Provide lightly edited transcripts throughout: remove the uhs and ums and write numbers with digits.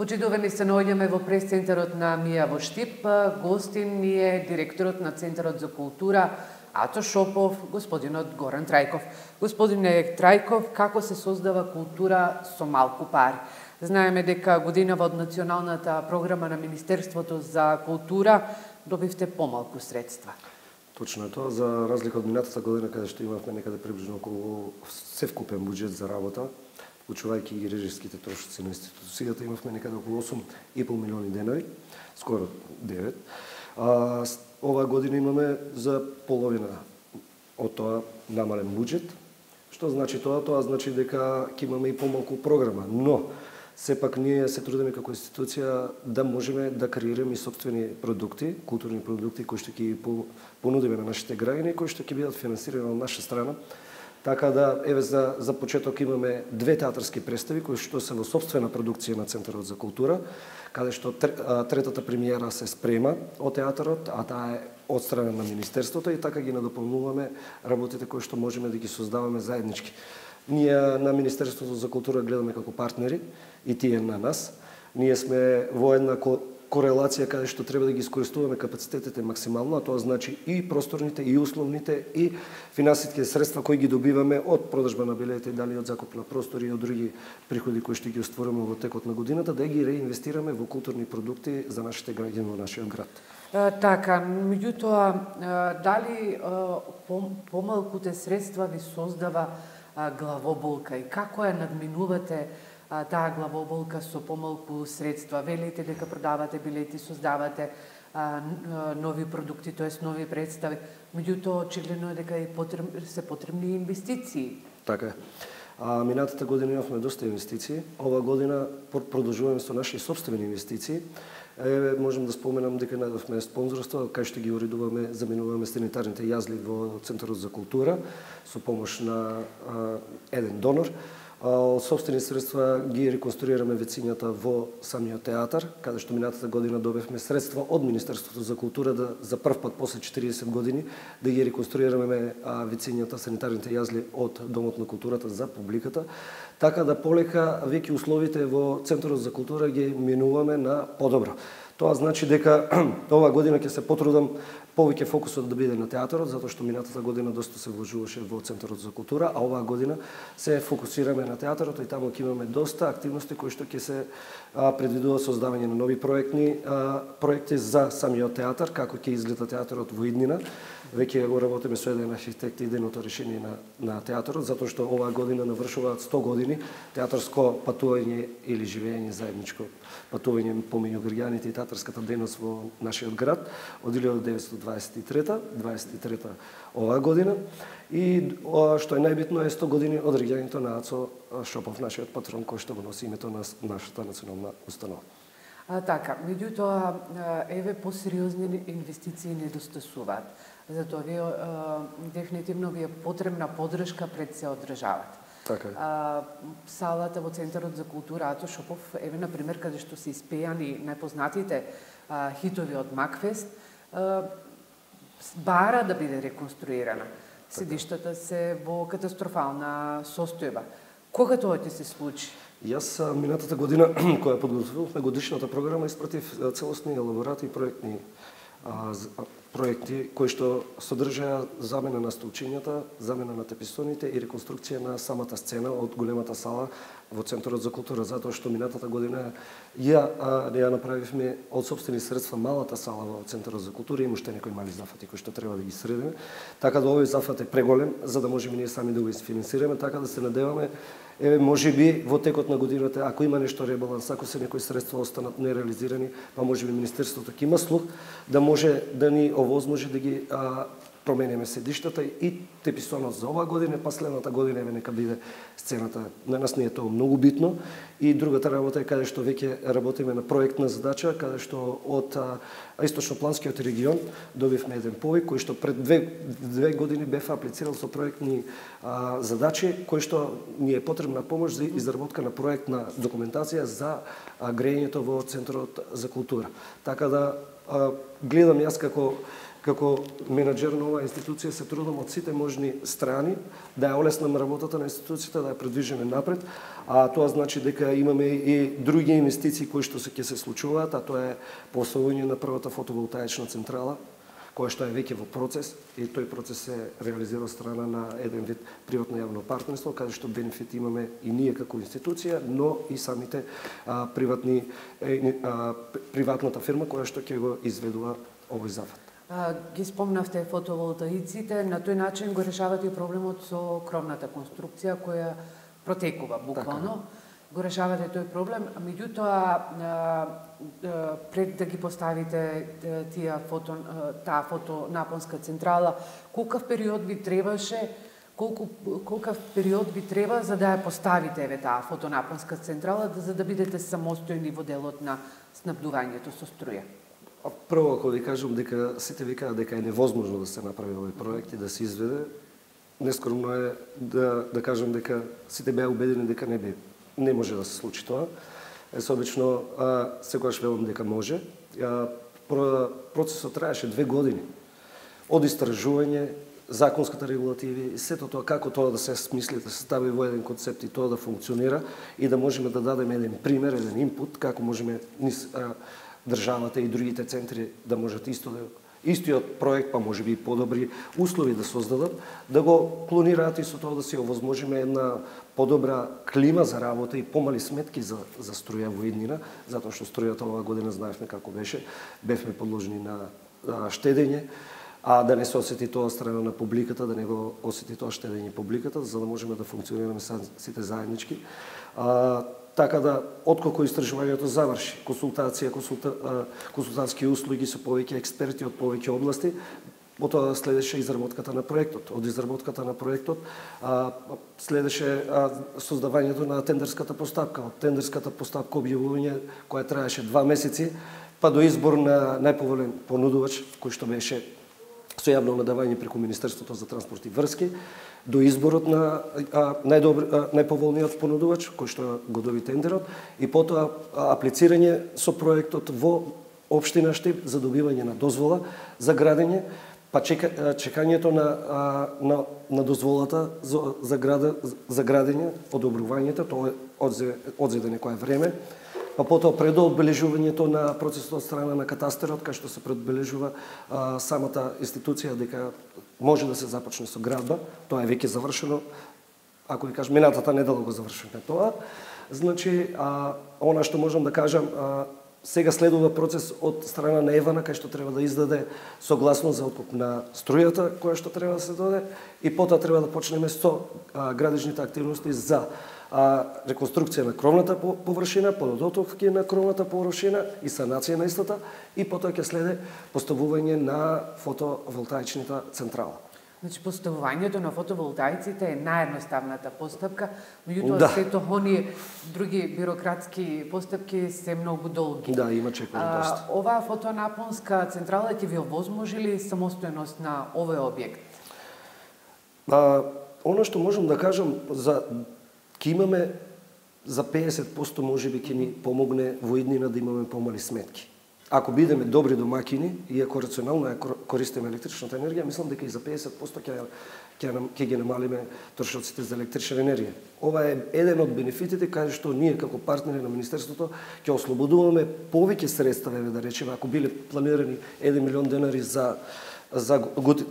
Почитувани се наоѓаме во прес-центарот на МИА во Штип. Гостин ни е директорот на Центарот за култура Ато Шопов, господинот Горан Трајков. Господине Трајков, како се создава култура со малку пари? Знаеме дека годинава од националната програма на Министерството за култура добивте помалку средства. Точно е тоа, за разлика од минатата година каде што имавме некаде приближно околу севкупен буџет за работа, вклучувајќи и режиските трошоци на институцијата, имавме некаде околу 8,5 милиони денари, скоро 9. Оваа година имаме за половина од тоа намален буџет. Што значи тоа? Тоа значи дека ќе имаме и помалку програма, но сепак ние се трудиме како институција да можеме да креираме и сопствени продукти, културни продукти кои што ќе понудиме на нашите граѓани, кои што ќе бидат финансирани од наша страна. Така да, еве за почеток имаме 2 театарски представи кои што се во сопствена продукција на Центарот за култура, каде што третата премиера се спрема од театарот, а таа е од страна на Министерството и така ги надополнуваме работите кои што можеме да ги создаваме заеднички. Ние на Министерството за култура гледаме како партнери и тие на нас. Ние сме во една корелација каде што треба да ги искористуваме капацитетите максимално, а тоа значи и просторните, и условните, и финансиските средства кои ги добиваме од продажба на билети, дали од закуп на простори и од други приходи кои што ги остваруваме во текот на годината, да ги реинвестираме во културни продукти за нашите граѓани во нашиот град. Така, меѓутоа, дали помалкуте средства ви создава главоболка и како ја надминувате таа главоболка со помалку средства? Велите дека продавате билети, создавате нови продукти, тоест нови представи, меѓутоа очигледно е дека се потребни инвестиции. Така е. Минатата година имавме доста инвестиции, оваа година продолжуваме со наши собствени инвестиции. Можем да споменам дека најдовме спонзорство, кај што ги уредуваме, заменуваме санитарните јазли во Центарот за култура со помош на еден донор. Од собствени средства ги реконструираме вецињата во самиот театар, каде што минатата година добивме средства од Министерството за култура да за прв пат после 40 години да ги реконструираме вецињата, санитарните јазли од Домот на културата за публиката, така да полека веќе условите во Центарот за култура ги минуваме на подобро. Тоа значи дека оваа година ќе се потрудам повеќе фокусот да биде на театарот, затоа што минатата година доста се вложуваше во Центарот за култура, а оваа година се фокусираме на театарот и таму ќе имаме доста активности кои што ќе се предвидува создавање на нови проекти за самиот театар, како ќе изгледа театарот во иднина. Веќе го работиме со еден архитект и иденото решение на театарот, затоа што оваа година навршуваат 100 години театарско патување или живење заедничко патување помеѓу граѓаните и театарската дејност во нашиот град од 1923 оваа година. И што е најбитно е 100 години од реѓањето на Ато Шопов, нашиот патрон, кој што го носи името на нашата национална установа. Така, меѓутоа, еве посериозни инвестиции недостасуваат. Затоа вие дефинитивно ви е потребна поддршка пред се одржават. Така е. Салата во Центарот за култура Ато Шопов, еве на пример каде што се испејани најпознатите хитови од Макфест, бара да биде реконструирана. Седиштата се во катастрофална состојба. Кога тоа ќе се случи? Јас минатата година, која подготвувавме годишната програма, испратив целосни елаборати и проекти кои што содржаа замена на столчињата, замена на теписоните и реконструкција на самата сцена од големата сала во Центарот за култура, затоа што минатата година ја направивме од сопствени средства малата сала во Центарот за култура, има уште некои мали зафати кои што треба да ги средиме, така да овој зафат е преголем за да можеме ние сами да го изфинансираме, така да се надеваме можеби во текот на годината, ако има нешто ребаланс, ако се некои средства останат нереализирани, па можеби Министерството ќе има слух да може да ни овозможи да ги промениме седиштата и теписонот за оваа година, па следната година еве нека биде сцената. На нас не е тоа многу битно. И другата работа е каде што веќе работиме на проектна задача, каде што од Источнопланскиот регион добивме еден повик кој што пред две години бев аплицирал со проектни задачи, кој што ни е потребна помош за изработка на проектна документација за грејењето во Центарот за култура. Така да гледам јас како како менаџер на оваа институција се трудам од сите можни страни да ја олеснам работата на институцијата, да ја предвижиме напред, а тоа значи дека имаме и други инвестиции кои што ќе се случуваат, а тоа е поставување на првата фотоволтаична централа, која што е веќе во процес, и тој процес се реализира од страна на еден вид приватно јавно партнерство, каде што бенефит имаме и ние како институција, но и самите приватната фирма која што ќе го изведува овој зафат. Ги спомнавте фотоволтаиците, на тој начин го решавате проблемот со кровната конструкција која протекува буквално. Така. Го решавате тој проблем, меѓутоа пред да ги поставите таа фотонапонска централа, колкав период ви требаше, колкав период ви треба за да ја поставите таа фотонапонска централа, за да бидете самостојни во делот на снабдувањето со струја? Прво, ако ви кажам дека сите викаат дека е невозможно да се направи овој проект и да се изведе, нескромно е да кажам дека сите беа убедени дека не може да се случи тоа. Обично секогаш велам дека може. Процесот траеше 2 години. Од истражување, законската регулативи, сето тоа како тоа да се смисли, да се стави во еден концепт и тоа да функционира и да можеме да дадеме еден пример, еден инпут како можеме државата и другите центри да можат истиот проект, па може би и подобри услови да создадат, да го клонираат и со тоа да се овозможиме една подобра клима за работа и помали сметки за струја во иднина, затоа што струјата оваа година знаевме како бевме подложени на штедење, а да не се осети тоа страна на публиката, да не го осети тоа штедење публиката, за да можеме да функционираме сите заеднички. Така да, отколку истражувањето заврши, консултантски услуги со повеќе експерти од повеќе области, потоа следеше изработката на проектот. Од изработката на проектот следеше создавањето на тендерската постапка. Од тендерската постапка објавување која траеше 2 месеци, па до избор на најповолен понудувач, кој што беше со јавно надавање преку Министерството за транспорт и врски, до изборот на најповолниот понудувач, кој што го доби тендерот, и потоа аплицирање со проектот во општина Штип за добивање на дозвола за градење, па чекањето на дозволата за градење, одобрувањето, тоа одзеде некое време, па потоа предоодбележувањето на процесот од страна на катастерот, кај што се предбележува самата институција дека може да се започне со градба. Тоа е веќе завршено. Ако ви кажам, минатата недела го завршивме тоа. Значи, она што можам да кажам, сега следува процес од страна на Евана, кај што треба да издаде согласност за откуп на струјата, која што треба да се доде, и потоа треба да почнеме со градежните активности за реконструкција на кровната површина, подотовки на кровната површина и санација на истата, и потоа ќе следе поставување на фотоволтаичната централа. Значи, поставувањето на фотоволтаиците е наједноставната постапка, меѓутоа сето оние други бирократски постапки се многу долги. Да, има чекање доста. Оваа фотонапонска централа ќе ви овозможи самостојност на овој објект? Оно што можам да кажам, ќе имаме за 50% можеби ќе ни помогне во иднина да имаме помали сметки. Ако бидеме добри домакини и ако рационално ја користиме електричната енергија, мислам дека и за 50% ќе ги намалиме трошоците за електрична енергија. Ова е еден од бенефитите каде што ние како партнери на Министерството ќе ослободуваме повеќе средства, да речеме, ако биле планирани 1 милион денари за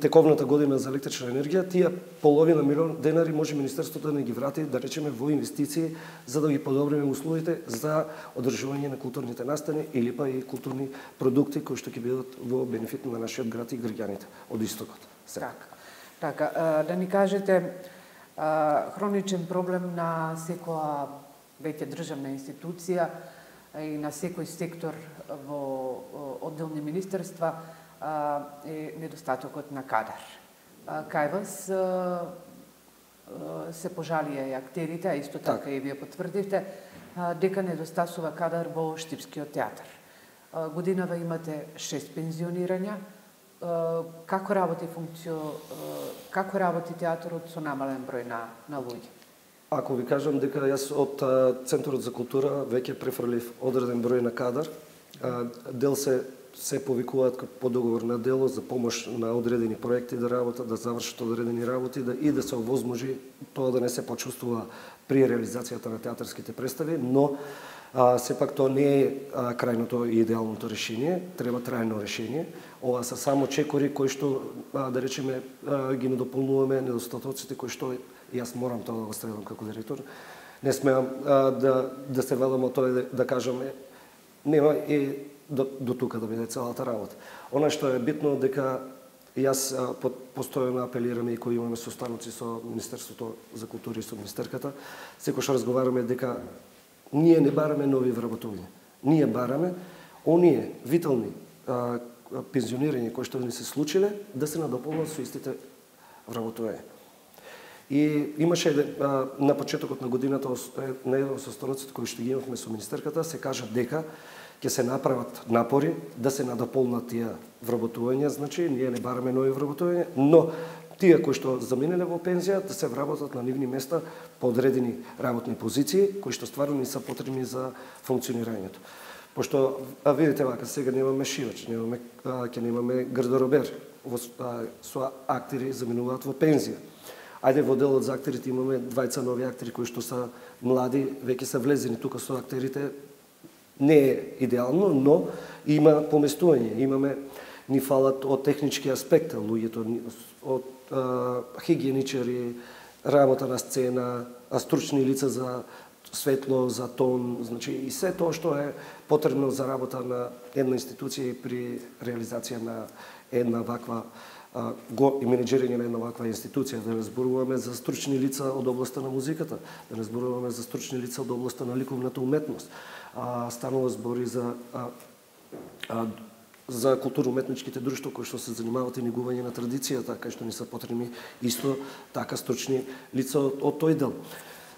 тековната година за електрична енергија, тие половина милион денари може Министерството да не ги врати, да речеме, во инвестиции, за да ги подобриме условите за одржување на културните настани или па и културни продукти кои што ќе бидат во бенефит на нашиот град и граѓаните од истокот. Така, да ни кажете, хроничен проблем на секоја веќе државна институција и на секој сектор во одделни министерства е недостатокот на кадар. Кај вас се пожалија и актерите, а исто така и вие потврдивте, дека недостасува кадар во Штипскиот театар. Годинава имате 6 пензионирања. Како работи театарот со намален број на луѓе? Ако ви кажам дека јас од Центарот за култура веќе префрлив одреден број на кадар, дел се се повикуваат по договор на дело за помош на одредени проекти да работат, да завршат одредени работи и да се овозможи тоа да не се почувствува при реализацијата на театарските представи, но сепак тоа не е крајното и идеалното решение, треба трајно решение. Ова се само чекори кои што, да речеме, ги надополнуваме недостатоците кои што јас морам тоа да го следам како директор. Не смеам да се велам од тоа да кажам нема и до тука да биде целата работа. Она што е битно дека јас постојано апелирам и кои имаме состаноци со Министерството за култура и со министерката, секогаш разговараме дека ние не бараме нови вработувања. Ние бараме оние витални пензионирања кои што ни се случиле да се надополнат со истите вработувања. И имаше на почетокот на годината на еден од состаноците кои што ги имавме со министерката се кажа дека ќе се направат напори да се надополнат тие вработувања, значи ние не бараме нови вработувања, но тие кои што заминеле во пензија да се вработат на нивни места по одредени работни позиции кои што стварно не се потребни за функционирањето. Пошто видите вака сега немаме шивач, ќе немаме гардеробер, со актери заминуваат во пензија. Ајде во делот за актерите имаме двајца нови актери кои што са млади, веќе се влезени тука со актерите. Не е идеално, но има поместување. Ни фалат од технички аспект, луѓето од хигиеничари, работа на сцена, стручни лица за светло, за тон, значи и се тоа што е потребно за работа на една институција и при реализација на една ваква и менеджирање на една ваква институција, да не зборуваме за стручни лица од областта на музиката, да не зборуваме за стручни лица од областта на ликовната уметност. Станува збори за културно-уметничките друштва кои што се занимаваат и негување на традицијата, кај што ни се потребни исто така стручни лица од тој дел.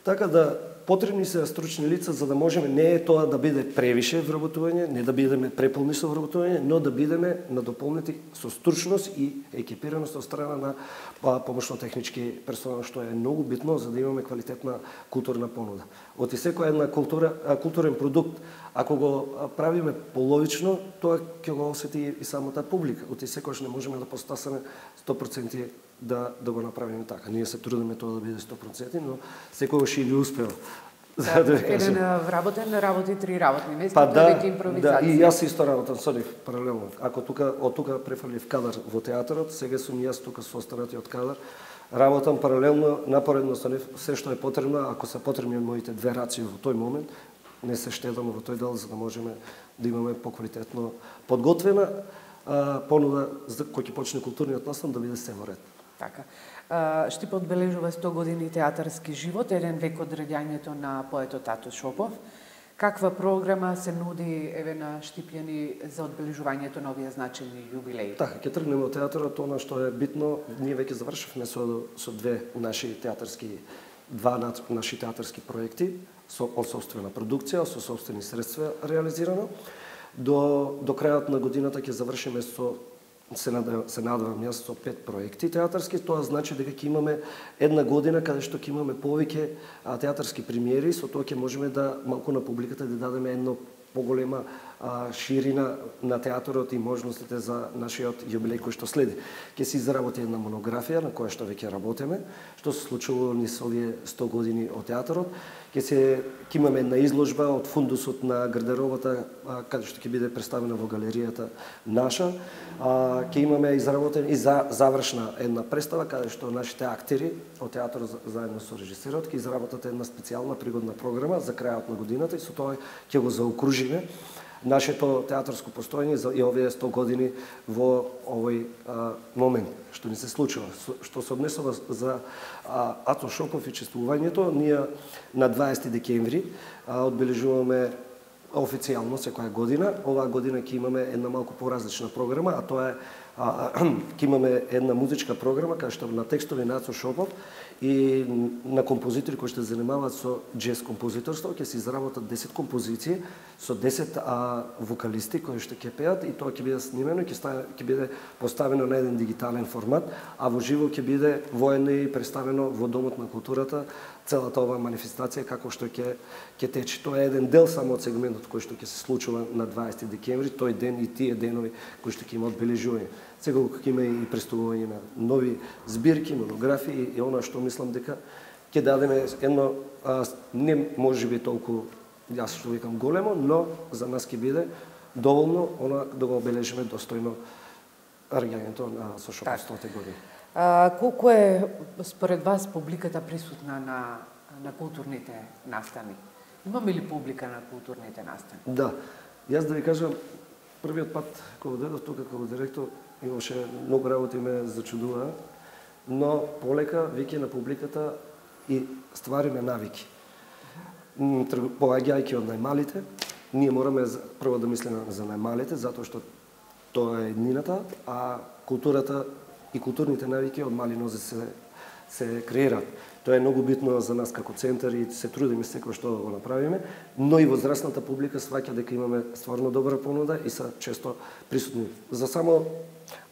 Така да потребни се стручни лица за да можеме не е тоа да биде превише вработување, не да бидеме преполни со вработување, но да бидеме надополнети со стручност и екипираност од страна на помошно-технички персонал, што е многу битно за да имаме квалитетна културна понуда. Од секоја една културен продукт, ако го правиме половично, тоа ќе го осети и самата публика. Од секојаш не можеме да постасаме 100% да го направиме така. Ние се трудиме тоа да биде 100%, но секогаш и не успева. Еден вработен работи 3 работни места, тоа веќе импровизација. И јас исто работам со нив паралелно. Ако од тука префрлив кадар во театарот, сега сум јас тука со останати од кадар, работам паралелно, напоредно со нив, се што е потребно, ако се потребни моите две раци во тој момент, не се штедам во тој дел за да можеме да имаме поквалитетно подготвена понуда за кој ќе почне културниот настан да биде се во ред. Така. Штип одбележува 100 години театарски живот, еден век од раѓањето на поетот Ато Шопов. Каква програма се нуди на Штипјани за одбележувањето на овие значени јубилеи? Така, ќе тргнеме од театарот, она што е битно, ние веќе завршивме со два наши театарски проекти, од собствена продукција, со собствени средства реализирано. До крајот на годината ќе завршиме се надевам јас со 5 проекти театарски, тоа значи дека ќе имаме една година каде што ќе имаме повеќе театарски премиери, со тоа ќе можеме да малку на публиката да дадеме едно поголема ширина на театарот и можностите за нашиот јубилеј кој што следи. Ќе се изработи една монографија на која што веќе работиме, што се случило низ овие 100 години од театарот. Ќе имаме една изложба од фундусот на гардеробата, каде што ќе биде представена во галеријата наша. Ќе имаме изработен и завршна една представа, каде што нашите актери од театарот заедно со режисерот ќе изработат една специјална пригодна програма за крајот на годината и со тоа ќе го заокружиме нашето театарско постоење и овие 100 години во овој момент што ни се случува. Што се однесува за Ато Шопов и чествувањето, ние на 20 декември одбележуваме официјално секоја година. Оваа година ќе имаме една малку поразлична програма, а тоа е Ќе имаме една музичка програма кај што на текстови Нацо Шопов и на композитори кои ќе се занимаваат со џез композиторство, ќе се изработат 10 композиции со 10 вокалисти кои што ќе пеат и тоа ќе биде снимено и ќе биде поставено на еден дигитален формат, а во живо ќе биде воено и представено во Домот на културата целата оваа манифестација како што ќе тече. Тоа е еден дел само од сегментот кој што ќе се случува на 20 декември, тој ден и тие денови кои што ќе има одбележување. Секако ќе има и представување на нови збирки, монографии и она што мислам дека ќе дадеме едно не можеби толку, јас што викам големо, но за нас ќе биде доволно она да го обележиме достојно раѓањето на со Шопов 100 години. Колку е според вас публиката присутна на културните настани? Имаме ли публика на културните настани? Да. Јас да ви кажам, првиот пат кога дојдов тука како директор, имаше многу работи ме зачудува, но полека веќе на публиката и ствариме навики. Поаѓајќи од најмалите, ние мораме прво да мислиме за најмалите, затоа што тоа е еднината, а културата и културните навики од мали нозе се креираат. Тоа е многу битно за нас како центар и се трудиме секој што го направиме, но и возрастната публика сваќа дека имаме стварно добра понуда и се често присутни.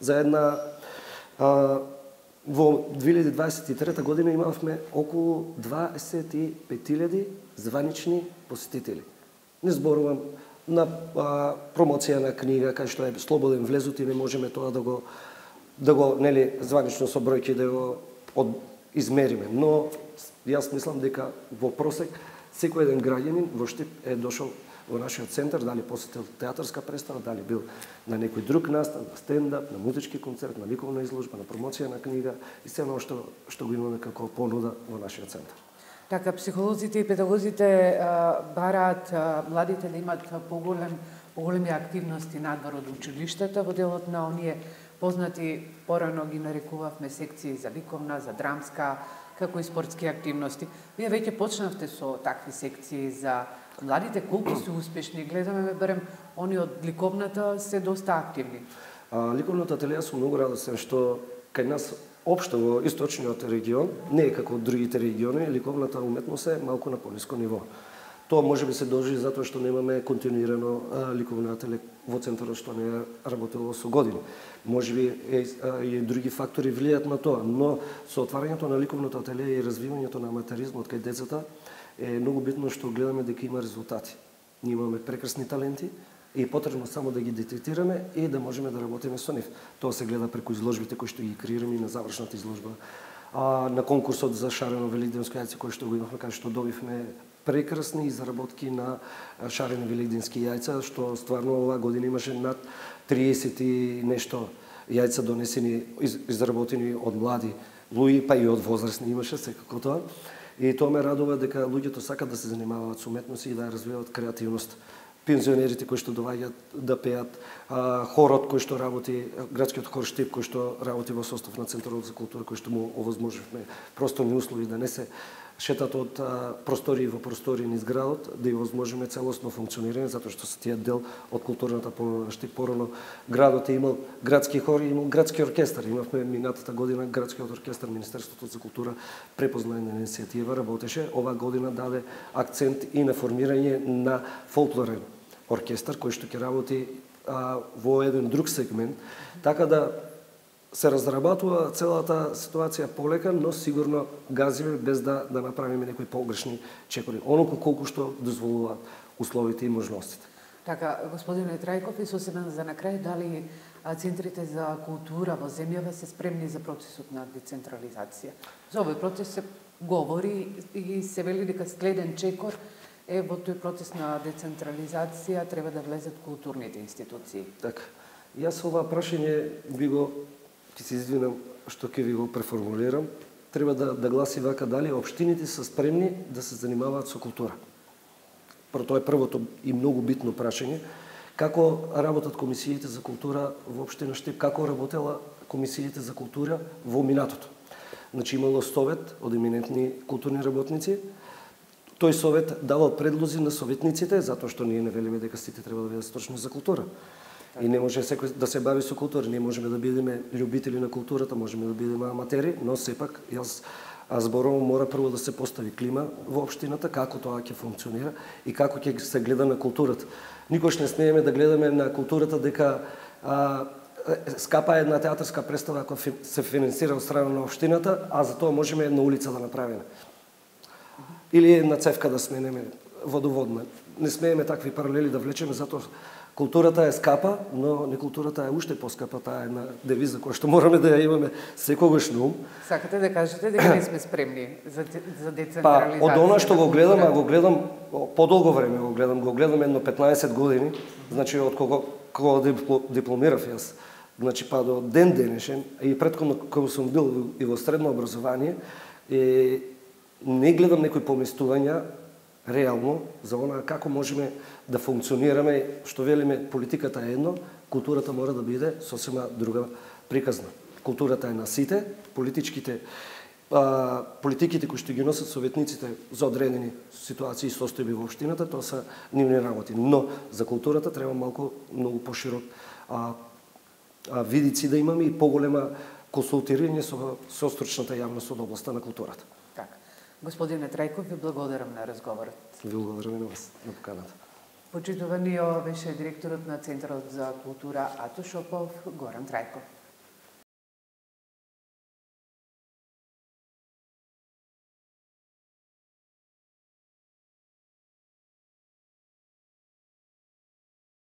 За една во 2023 година имавме околу 25.000 званични посетители. Не зборувам на промоција на книга кај што е слободен влезот и не можеме тоа да го нели званично со бројки да го измериме, но јас мислам дека во просек секој еден граѓанин во Штип е дошол во нашиот центар, дали посетил театарска представа, дали бил на некој друг настан, на стендап, на музички концерт, на ликовна изложба, на промоција на книга и се оно што го имаме како понуда во нашиот центар. Така, психолозите и педагозите бараат младите да имат поголеми активности надвор од училиштата во делот на оние познати, порано ги нарекувавме секции за ликовна, за драмска, како и спортски активности. Вие веќе почнавте со такви секции за младите, колку се успешни? Гледаме, барем, они од ликовната се доста активни. Ликовната ателија сум многу радосен што кај нас општо во источниот регион, не е како другите региони, ликовната уметност е малку на пониско ниво. Тоа можеби се дължи затоа што немаме континуирано ликовна ателија во центарот што не е работело со години. Можеби и други фактори влијаат на тоа, но со отварањето на ликовната ателија и развивањето на аматеризмот кај децата е многу битно што гледаме дека има резултати. Ние имаме прекрасни таленти и е потребно само да ги детектираме и да можеме да работиме со нив. Тоа се гледа преку изложбите кои што ги креираме и на завршната изложба. На конкурсот за шарено великденско јајце кој што го имавме, кај што добивме прекрасни изработки на шарени великденски јајца, што стварно оваа година имаше над 30 и нешто јајца донесени, изработени од млади луѓе, па и од возрастни имаше секако тоа. И тоа ме радува дека луѓето сакат да се занимаваат со уметност и да ја развиваат креативност. Пензионерите кои што доаѓаат да пеат, хорот кој што работи, градскиот хор Штип кој што работи во состав на Центарот за култура, кој што му овозможивме просторни услови да не се шетат од простории во простории низ градот, да ја овозможиме целосно функционирање, затоа што се тие дел од културната понуда на Штип. Порано градот е имал градски хор и имал градски оркестар. Имавме минатата година градскиот оркестар, Министерството за култура препозна една иницијатива, работеше. Оваа година даде акцент и на формирање на фолклорен оркестар кој што ќе работи во еден друг сегмент, така да се разработува целата ситуација полека, но сигурно газиме без да направиме некои погрешни чекори. Оноко колку што дозволуваат условите и можностите. Така, господине Трајков, и сосема за на крај, дали центрите за култура во земјава се спремни за процесот на децентрализација? За овој процес се говори и се вели дека следен чекор е во тој процес на децентрализација треба да влезат културните институции. Така. Јас ова прашање ќе се извинам што ќе ви го преформулирам, треба да гласи вака: дали општините се спремни да се занимаваат со култура? Тоа е првото и многу битно прашање. Како работат комисиите за култура во општина Штип? Како работела комисиите за култура во минатото? Значи имало совет од еминентни културни работници. Тој совет давал предлози на советниците, затоа што ние не велиме дека сите треба да бидат стручни за култура. И не може секој да се бави со култура, не можеме да бидеме љубители на културата, можеме да бидеме аматери, но сепак јас зборувам мора прво да се постави клима во општината, како тоа ќе функционира и како ќе се гледа на културата. Никош не смееме да гледаме на културата дека скапа една театарска представа ако се финансира од страна на општината, а за тоа можеме една улица да направиме. Или една цевка да сменеме водоводна. Не смееме такви паралели да влечеме, затоа културата е скапа, но не културата е уште поскапа, таа е една девиза која што мораме да ја имаме секогаш на ум. Сакате да кажете дека не сме спремни за децентрализација? Па, од она што го гледам, а го гледам подолго време го гледам едно 15 години, значи од кога дипломирав јас. Значи па до ден денешен и претходно кога сум бил и во средно образование, не гледам некои поместувања реално за она како можеме да функционираме, што велиме политиката е едно, културата мора да биде сосема друга приказна. Културата е на сите, политиките кои што ги носат советниците за одредени ситуации и состојби во општината, тоа се нивни работи. Но за културата треба малку многу поширок видици да имаме и поголема консултирање со стручната јавност од областа на културата. Така. Господине Трајков, ви благодарам на разговорот. Ви благодарам и на вас, на поканата. Почитувани, ова беше директорот на Центарот за култура Ато Шопов, Горан Трајков.